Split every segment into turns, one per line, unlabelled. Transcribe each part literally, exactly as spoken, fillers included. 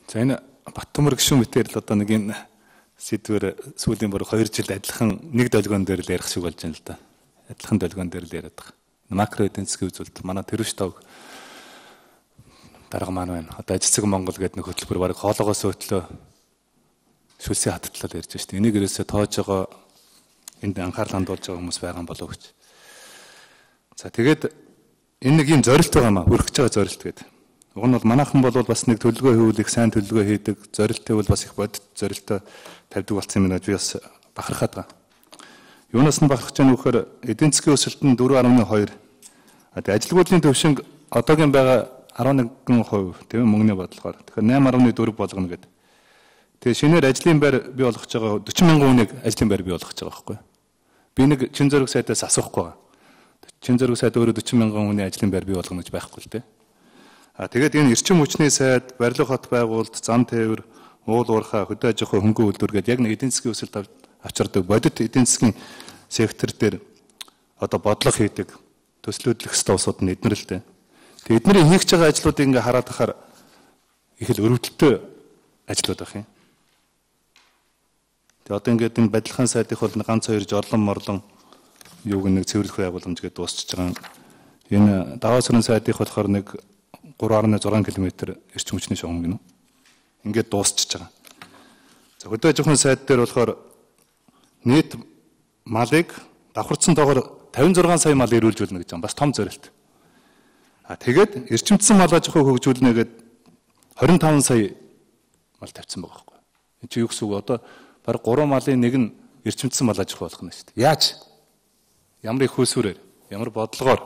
За энэ Баттөмөр гишүүн мэтэр л одоо нэг энэ сэдвэр сүүлийн бүр хоёр жил адилхан нэг долгион дээр л ярих шиг болж байна л да. Адилхан долгион дээр л яриад байгаа. Макро эдийн засгийн үзүүлэлт манай Тэрвш тав дарга маань байна. Одоо Ажицэг Монгол гэдэг нэг хөтөлбөр бараг хоолоогоос өтлөө шүлсийн хаттлал ярьж байна шүү дээ. Энийг ерөөсөө тоож байгаа энд анхаарал хандуулж байгаа хүмүүс байгаа болов уу гэж. За тэгээд энэ нэг юм зорилт байгаа маа хүрэх гэж байгаа зорилт гэдэг. Уг нь бол манайхан бол бас нэг төлөвлөгөө хийвэл их сайн төлөвлөгөө хийдэг, зорилттой бол бас их бодит зорилттой тавьдаг болсон юм байна. Би бас бахархаад байгаа. Юунаас нь бахархаж байгаа нөхөр эдийн засгийн өсөлт нь дөрвөн гаруй хоёр. А тэгээ ажилгүйдлийн төвшинг одоогийн байгаа арван нэгэн хувь тийм мөнгөний бодлогоор. Тэгэхээр найман гаруй дөрв болгоно гэдэг. Тэгээ шинээр ажлын байр бий болгож байгаа дөрвөн мянган хүнийг ажлын байр бий болгож байгаа байхгүй. Би нэг чин зөрөг сайдаас асуухгүй байгаа. Чин зөрөг сайд өөрөө дөрвөн мянган хүний ажлын байр бий болгоно гэж байхгүй л тийм. А тэгээд энэ эрчим хүчний сайд, барилга хот байгуулалт, зам тээвэр, уул уурхай, хөдөө аж ахуй, хөнгөн үйлдвэр гэдэг яг нэг эдийн засгийн өсөлт авчирдаг бодит эдийн засгийн сектор дээр одоо бодлого хийдэг, төслөдлөх ёстой усууд нь эднэр л дээ. Тэгээд эднэрийн хийж байгаа ажлуудыг ингээ хараад тахаар их л өрөвдөлтөй ажлууд байх юм. Тэгээд одоо ингээд энэ барилгын сайдынх бол ганц хоёр жорлон морлон юуг нэг цэвэрлэх байгууламж гэдэг дуусчихж байгаа. Энэ даваа сөрөн сайдынх болохоор нэг гурван гаруй зургаан километр эрчим хүчний шугам гинэ. Ингээд дуусчихж байгаа. За хөдөө аж ахуйн сайд дээр болохоор нийт малыг давхарцсан тоогоор тавин зургаан сая мал ирүүлжүүлнэ гэж байгаа. Бас том зорилт. А тэгээд эрчимдсэн мал аж ахуй хөгжүүлнэ гэдэг хорин таван сая мал тавьсан байгаа байхгүй. Энэ чи юу гэсэн үг одоо бараг гурван малын нэг нь эрчимдсэн мал аж ахуй болох нь шүү дээ. Яаж? Ямар их хөөсвөрээр, ямар бодлогоор.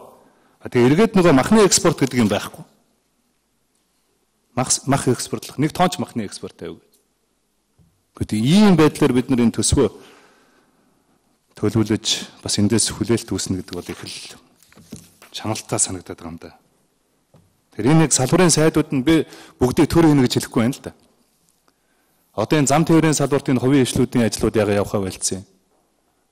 А тэгээд эргээд нөгөө махны экспорт гэдэг юм байхгүй. Мах мах экспортлох нэг тонч махны экспорт тавь. Гэхдээ ийм байдлаар бид нар энэ төсвөө төлөвлөж бас эндээс хүлээлт үүснэ гэдэг бол их л чаналтай санагдаад байгаа юм да. Тэр энэ нэг салбарын сайдууд нь би бүгдийг төр хийнэ гэж хэлэхгүй байна л да. Одоо энэ зам тээврийн салбартын хувийн хвшлүүдийн ажлууд яга явахаа байлцсан.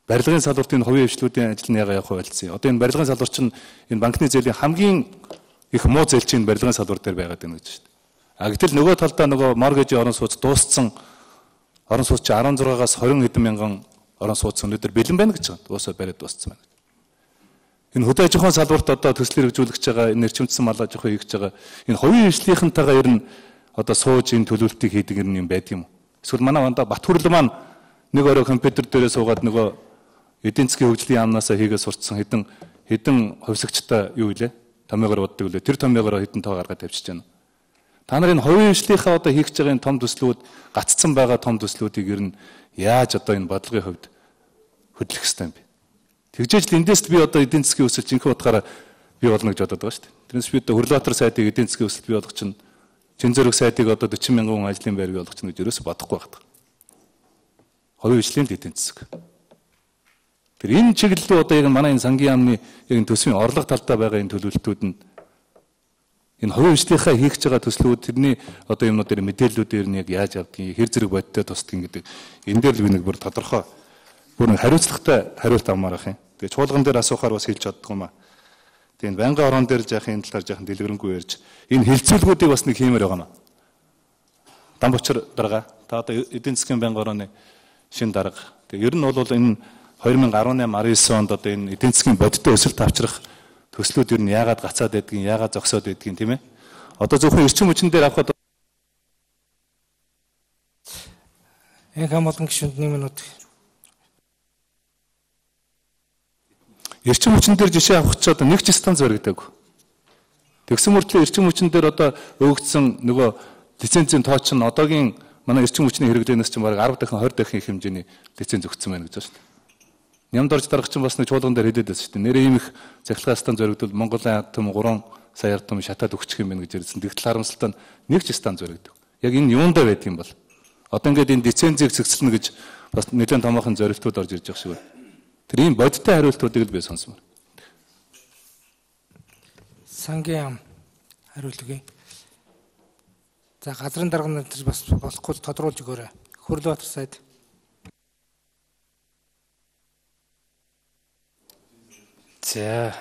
Барилгын салбартын хувийн хвшлүүдийн ажил нь яга явахаа байлцсан. Одоо энэ барилгын салбар чинь энэ банкны зээлийн хамгийн их муу зээлчийн барилгын салбар дээр байгаад байна гэж шүү дээ. А гэтэл нөгөө талдаа нөгөө моргежийн орон сууц дууссан орон сууц чи арван зургаас хорин хэдэн мянган орон сууц өнөөдөр бэлэн байна гэж байна. Дуусаа бариад дууссан байна. Энэ хөдөө аж ахуйн салбарт одоо төслийг хэрэгжүүлж байгаа энэ эрчимдсэн мал аж ахуй хийж байгаа энэ хувийн хвшлийнхэнтэйгээ ер нь одоо сууж энэ төлөвлөлтийг хийдэг юм байдаг юм. Эсвэл манай ванда Батхүрл маань нэг орой компьютер дээрээ суугаад нөгөө эдийн засгийн хөгжлийн яамнасаа хийгээ сурцсан хэдэн хэдэн хувьсагчтай юу илээ? Томьёогоор боддог үлээ. Тэр томьёогоор хэдэн тоо гаргаад тавьчихж байна. Та нарын хувийн хвшлийнхаа одоо хийх гэж байгаа энэ том төслүүд гаццсан байгаа том төслүүдийг ер нь яаж одоо энэ бодлогын хувьд хөдлөх ёстой юм бэ? Тэгжээж л эндээс би одоо эдийн засгийн өсөлт жинхэнэ утгаараа бий болно гэж бодод байгаа шүү дээ. Тэрнээс би одоо Хөрлөбаатар сайдыг эдийн засгийн өсөлт бий болгох чинь Чин зөрөг сайдыг одоо дөрвөн мянган хүн ажлын байр бий болгох чинь гэж ерөөсө бодохгүй байна. Хувийн хвшлийн эдийн засаг. Тэр энэ чиглэлөө одоо яг манай энэ сангийн яамны яг энэ төсвийн орлого талдаа байгаа энэ төлөвлөлтүүд нь энэ хувийн хвшлийнхаа хийх гэж байгаа төслүүд тэрний одоо юмнууд дээр мэдээллүүдээр нь яг яаж явдгийг хэр зэрэг бодиттой тусдгийг гэдэг энэ дээр л би нэг бүр тодорхой бүр нэг хариуцлагатай хариулт авмаар ах юм. Тэгээ чуулган дээр асуухаар бас хэлж чаддгүй маа. Тэгээ энэ байнгын орон дээр жаахан энэ талаар жаахан дэлгэрэнгүй ярьж энэ хилцүүлгүүдийг бас нэг хиймээр байгаа маа. Дамбочор дарга та одоо эдийн засгийн байнгын орооны шин дарга. Тэгээ ер нь бол энэ хоёр мянга арван tám арван онд одоо энэ эдийн засгийн бодиттой өсөлт авчрах төслүүд ер нь яагаад гацаад байдгийг, яагаад зогсоод байдгийг тийм ээ. Одоо зөвхөн эрчим хүчин дээр авахад
энэ хэм болгон гишүүнд нэг минут.
Эрчим хүчин дээр жишээ авах ч одоо нэг ч станц баригдаг. Тэгсэн мөртлөө эрчим хүчин дээр одоо өгөгдсөн нөгөө лицензийн тоо чинь одоогийн манай эрчим хүчний хэрэглэнээс чинь бараг арав дахин хорь дахин их хэмжээний лиценз өгсөн байна гэж байна шүү дээ. Нямд орж дарах чинь бас нэг чуулган дээр хэлээд байсан шүү дээ. Нэрээ ийм их цахилгаан станц зоригдвол Монголын том гурван сая ардам шатаад өгчих юм байна гэж ярьсан. Тэгтэл харамсалтай нэг ч станц зоригдв. Яг энэ юундаа байдаг юм бол. Одоо ингээд энэ лицензийг зэгцэлнэ гэж бас нэлээд томоохон зорилтууд орж ирж байгаа шиг байна. Тэр ийм бодиттой хариултуудыг л би сонсмоор.
Сангийн яам хариултыг. За газрын дарга нар бас болохгүй тодруулж өгөөрэй. Хөрлөбаатар сайд.
За.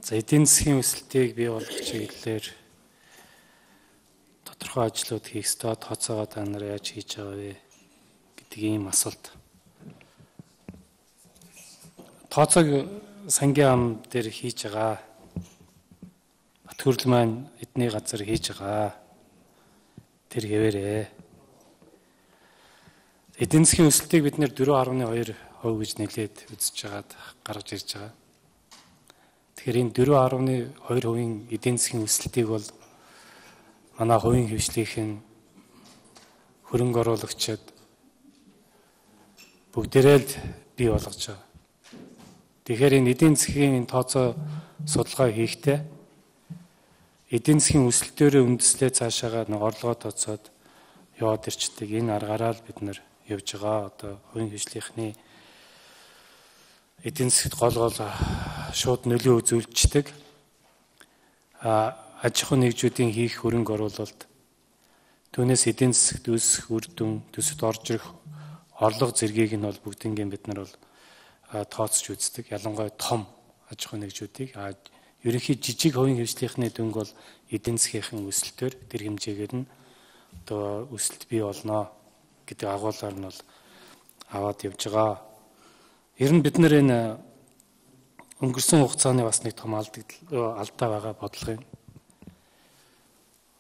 За эдийн засгийн өсөлтийг бий болгох чиглэлээр тодорхой тодорхой ажлууд хийх ёстой, тооцоогоо та нар яаж хийж байгаа вэ гэдэг ийм асуулт. Тооцоог сангийн ам дээр хийж байгаа. Бат хөрөл маань эдний газар хийж байгаа. Тэр хэвээрээ. Эдийн засгийн өсөлтийг бид нэр дөрвөн гаруй хоёр хувь гэж нэлээд үзэж байгаад гаргаж ирж байгаа. Тэгэхээр энэ дөрвөн гаруй хоёр хувийн эдийн засгийн өсөлтийг бол манай хувийн хвшлийнхэн хөрөнгө оруулагчид бүгдээрээ л бий болгож байгаа. Тэгэхээр энэ эдийн засгийн тооцоо судалгаа хийхдээ эдийн засгийн өсөлтөөрөө үндэслээ цаашаага нэг орлогоо тооцоод яваад ирчдэг. Энэ аргаараа л бид нар явж байгаа. Одоо хувийн хвшлийнхний эдийн засгт гол гол шууд нөлөө үзүүлждэг. А аж ахуйн нэгжүүдийн хийх хөрөнгө оруулалт түүнээс эдийн засгт үүсэх үр дүн, төсөвт орж ирэх орлого зэргийг нь бол бүгднийг бид нар бол тооцож үздэг. Ялангуяа том аж ахуйн нэгжүүдийг а ерөнхий жижиг хувийн хвшлийнхний дүнг бол эдийн засгийн өсөлтөөр тэр хэмжээгээр нь одоо өсөлт бий болно гэдэг агуулгаар нь бол аваад явж байгаа. Ер нь бид нар энэ өнгөрсөн хугацааны бас нэг том алдаа байгаа бодлого юм.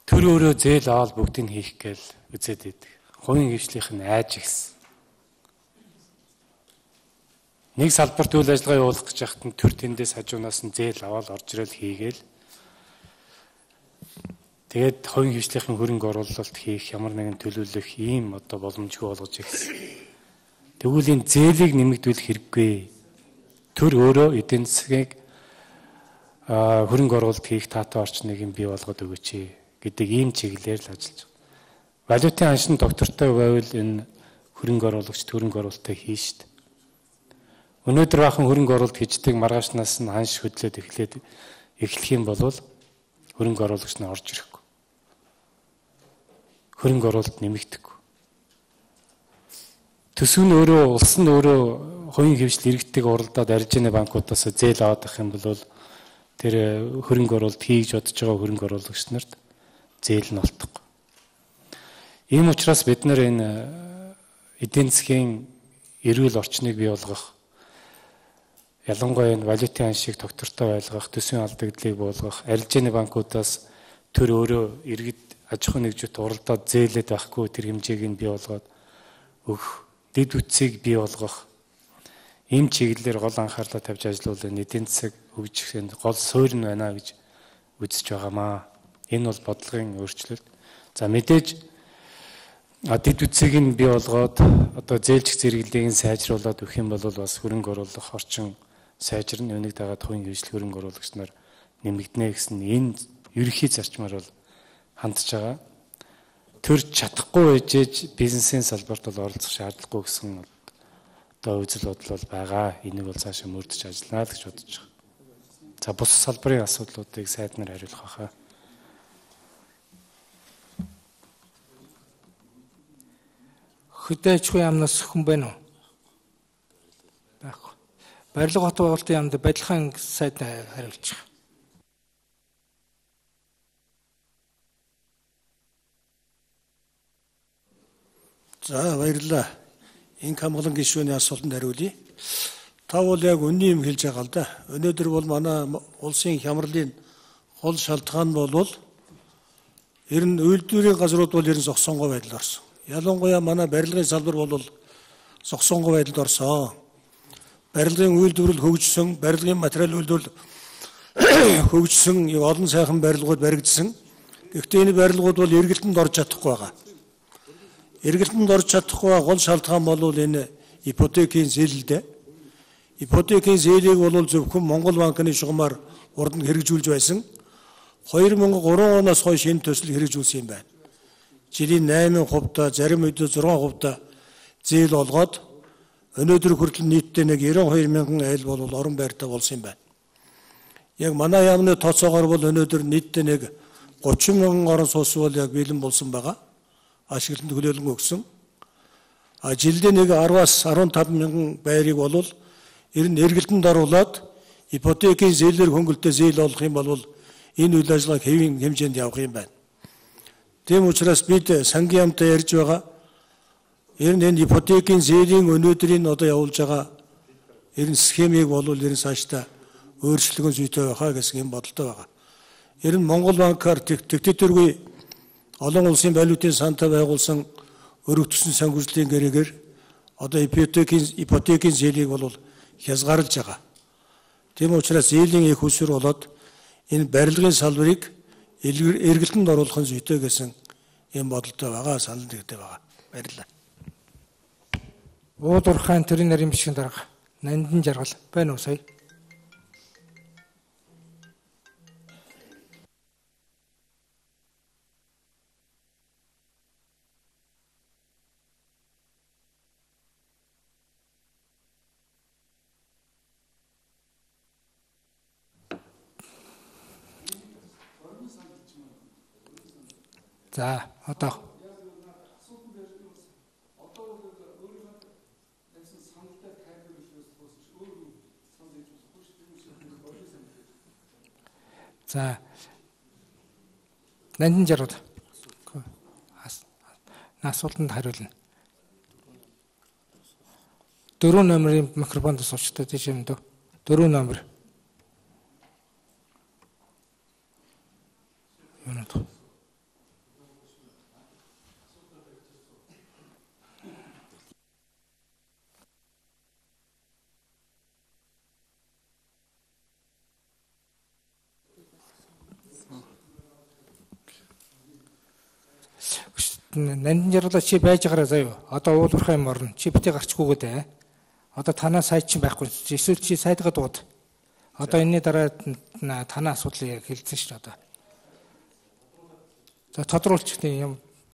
Төр өөрөө зээл аваад бүгдийг хийх гээл үзээд байдаг. Хувийн хвшлийнх нь айж гисэн. Нэг салбарт үйл ажиллагаа явуулах гэж яхад нь төр тэндээс хажуунаас нь зээл аваад орж ирэл хийгээл. Тэгээд хувийн хвшлийнхэн хөрөнгө оруулалт хийх ямар нэгэн төлөвлөх ийм одоо боломжгүй болгож ирсэн. Тэгвэл энэ зээлийг нэмэгдүүлэх хэрэггүй. Төр өөрөө эдийн засгийг хөрөнгө оруулалт хийх таатай орчныг бий болгоод өгөөч гэдэг ийм чиглэлээр л ажиллаж байгаа. Валютын аншин доктортой байвал энэ хөрөнгө оруулагч хөрөнгө оруулалтаа хийн шүү дээ. Өнөөдөр бахан хөрөнгө оруулалт хийждэг маргаашнаас нь ханш хөдлөөд эхлээд эхлэх юм бол хөрөнгө оруулагч нь орж ирэхгүй. Хөрөнгө оруулалт нэмэгдэхгүй. Төсөв нь өөрөө улс нь өөрөө хувийн хвшил иргэдэг уралдаад аржины банкудаас зээл аваад авах юм бол тэр хөрөнгө оруулалт хийж бодож байгаа хөрөнгө оруулагч нарт зээл нь олдохгүй. Ийм учраас бид нар энэ эдийн засгийн эрүүл орчныг бий болгох, ялангуяа энэ валютын аншийг доктортой байлгах, төсвийн алдагдлыг буулгах, арилжааны банкудаас төр өөрөө иргэд аж ахуйн нэгжүүд уралдаад зээлээд байхгүй тэр хэмжээг нь бий болгоод өгөх, дэд үтсийг бий болгох ийм чиглэлээр гол анхаарлаа тавьж ажиллавал эдийн засаг хөгжихийн гол суурь нь байна гэж үзэж байгаамаа. Энэ бол бодлогын өөрчлөлт. За мэдээж дэд үтсийг нь бий болгоод одоо зээлжих зэрэглэлийг сайжруулад өгөх юм бол бас хөрөнгө оруулах орчин сайжирна. Үүнийг дагаад хувийн хвшил хөрөнгө оруулагч нар нэмэгдэнэ гэсэн энэ ерөнхий зарчмаар бол хандж байгаа. Төр чадахгүй ээжээж бизнесийн салбарт бол оролцох шаардлагагүй гэсэн одоо үзэл бодол бол байгаа. Энийг бол цаашаа мөрдөж ажиллана л гэж бодож байгаа. За бус салбарын асуудлуудыг сайднаар хариулах байхаа.
Хөдөө аж ахуйн яамнаас хүн байна уу? Байхгүй. Барилга хот байгуулалтын яамд барилгын сайд хариулж байгаа.
За баярлалаа. Энэ хамгаалан гишүүний асуултанд хариулъя. Та бол яг үнний юм хэлж байгаа л да. Өнөөдөр бол манай улсын хямралын гол шалтгаан бол ер нь үйлдвэрийн газрууд бол ер нь зогсонгой байдал орсон. Ялангуяа манай барилгын салбар бол зогсонгой байдалд орсон. Барилгын үйлдвэрлэл хөгжсөн, барилгын материал үйлдвэрлэл хөгжсөн, олон сайхан барилгууд баригдсан. Гэхдээ энэ барилгууд бол эргэлтэнд орж чадахгүй байгаа. Эргэлтэнд орж чадахгүй гол шалтгаан бол энэ ипотекийн зээлэлдээ. Ипотекийн зээлийг бол зөвхөн Монгол банкны шугамар урд нь хэрэгжүүлж байсан. хоёр мянга и гурван оноос хойш энэ төсөл хэрэгжүүлсэн юм байна. Жилийн найман хувьтай, зарим үед зургаан хувьтай зээл олгоод өнөөдөр хүртэл нийтдээ нэг девяносто хоёр мянган айл бол орон байртай болсон юм байна. Яг манай яамны тооцоогоор бол өнөөдөр нийтдээ нэг гучин мянган орон сууц бол яг бэлэн болсон байгаа. Ашиглалтанд төлөөлөн өгсөн. А жилдээ нэг десяраас арван таван мянган байрыг бол ер нь эргэлтэнд оруулаад ипотекийн зээлээр хөнгөлтөө зээл олох юм бол энэ үйл ажиллагааг хэвийн хэмжээнд явах юм байна. Тийм учраас бид сангийн яамтай ярьж байгаа ер нь энэ ипотекийн зээлийн өнөөдрийн одоо явуулж байгаа ер нь схемийг бол ер нь цаашдаа өөрчлөгөн зүйтэй байхаа гэсэн юм бодолтой байгаа. Ер нь Монгол банкар тэгтэтэргүй олон улсын валютын сантай байгуулсан өргөтсөн санхүүжлийн гэрээгээр одоо ипотекийн ипотекийн зээлийг бол хязгаарлаж байгаа. Тийм учраас зээлийн их усүр болоод энэ барилгын салбарыг эргэлтэнд оруулахын зүйтэй гэсэн юм бодолтой байгаа, санал нэгтэй байгаа. Баярлалаа.
Уудуурхайн төрийн нарийн бичгийн дарга Нандин Жаргал байна уу сая? За, одоо За. Нандин Жаргал. Асуултанд хариулна. Дөрөв номерын микрофонд суулчтай тийш юм дөө. Дөрөв номер. Юунад. Нандин Жаргалаа чи байж гараа заяа. Одоо уулуурхай юм орно. Чи битээ гарчгүйгээд ээ. Одоо танаа сайд чинь байхгүй. Эсвэл чи сайдгаа дууд. Одоо энэний дараа танаа асуудлыг хэлсэн шүү дээ одоо. За тодруулчих тийм юм.